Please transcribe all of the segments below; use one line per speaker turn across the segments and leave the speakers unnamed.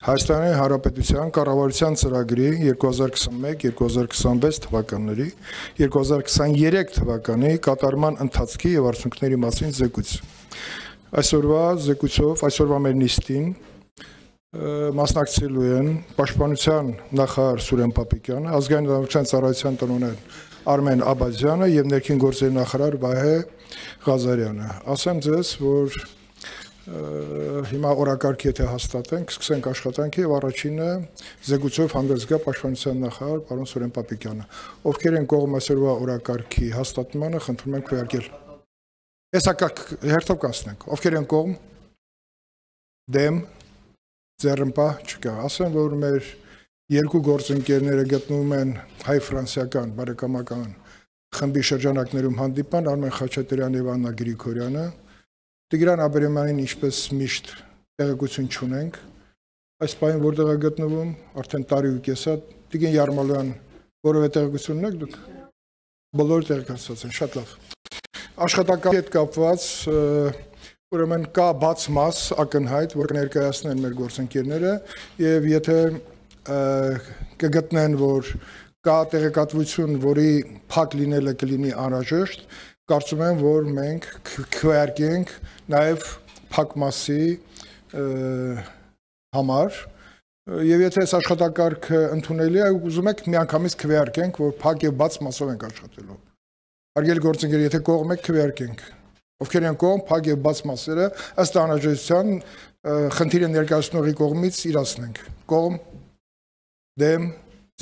Հայաստանի Հանրապետության կառավարության ծրագրի 2021-2026 թվականների 2023 թվականի կատարման ընթացքի եւ արդյունքների մասին զեկույց։ Այսօրվա մեր նիստին մասնակցելու են Պաշտպանության նախարար Սուրեն Պապիկյանը, ազգային իրավունքների ծառայության տնօրեն Արմեն Աբազյանը եւ ներքին գործերի նախարար Վահե Ղազարյանը։ Ասեմ ձեզ, որ հիմա օրակարգ եթե հաստատենք, սկսենք աշխատանքի եւ առաջինը զեկույցով հանդես գա Պաշտպանության նախարար պարոն Սուրեն Պապիկյանը։ Ովքեր են կողմ այսօրվա օրակարգի հաստատմանը, խնդրում եմ քվեարկել։ Տեսակակ հերթով կանցնենք։ Ովքեր են կողմ, դեմ, ձեռնպահ չկա։ Ասեմ, որ մեր երկու գործընկերները գտնվում են հայ-ֆրանսիական բարեկամական խմբի շրջանակներում հանդիպան Արմեն Խաչատրյանը եւ Աննա Գրիգորյանը։ Տիգրան Աբրահամյանին ինչպես միշտ տեղեկություն չունենք, այս պահին որտեղ է գտնվում, արդեն տարի ու կես է, Տիգրան Յարմալյան, որևէ տեղեկություն ունեք դուք, բոլորը տեղեկացված են, շատ լավ։ Աշխատանքի հետ կապված, ուրեմն կա բաց մաս ակնհայտ, որ կներկայացնեն մեր գործընկերները, եւ եթե կգտնեն, որ կա տեղեկատվություն, որի փակ լինելը կլինի անհրաժեշտ, կարծում եմ, որ մենք քվեարկենք նաև փակ մասի համար եւ եթե այս աշխատակարգը ընդունելի է, ուզում եք միանգամից քվեարկենք, որ փակ եւ բաց մասով ենք աշխատելու։ Հարգելի գործընկեր, եթե կողմ եք, քվեարկենք։ Ովքեր են կողմ, փակ եւ բաց մասերը ըստ անհրաժեշտության խնդիրը ներկայացնողի կողմից իրացնենք։ Կողմ, դեմ,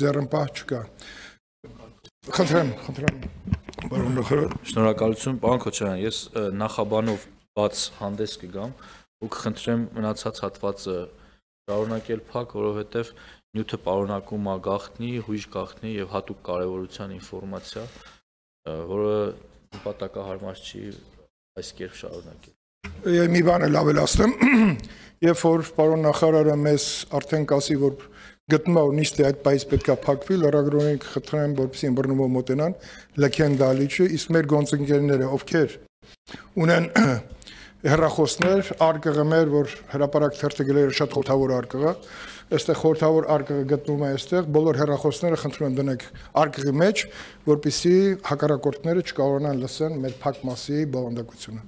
ձեռնպահ չկա։ Խնդրեմ։ Պարոն նախարար,
շնորհակալություն, պարոն Քոչարյան, ես նախաբանով բաց հանդես կգամ ու կխնդրեմ մնացած հատվածը շարունակել փակ, որովհետև նյութը պարունակում է գաղտնի, հույժ գաղտնի եւ հատուկ կարեւորության ինֆորմացիա, որը նպատակահարմար չի այս կերպ շարունակել։
Մի բան էլ ավելացնեմ, երբ որ պարոն նախարարը մեզ արդեն կասի, որ գտնում է, որ նիստի այդ պայից պետք է փակվի, լրագրողին խնդրեմ, որպեսզի ըմբռնումով մոտենան, լքեն դալիճը, իսկ մեր գործընկերները, ովքեր ունեն հեռախոսներ, արկղը մեր, որ հրապարակ թերթը գրել է շատ խորհրդավոր արկղը, այստեղ խորհրդավոր արկղը գտնվում է այստեղ, բոլոր հեռախոսները խնդրում եմ դնեք արկղի մեջ, որպեսզի հակառակորդները չկարողանան լսեն մեր փակ մասի բովանդակությունը։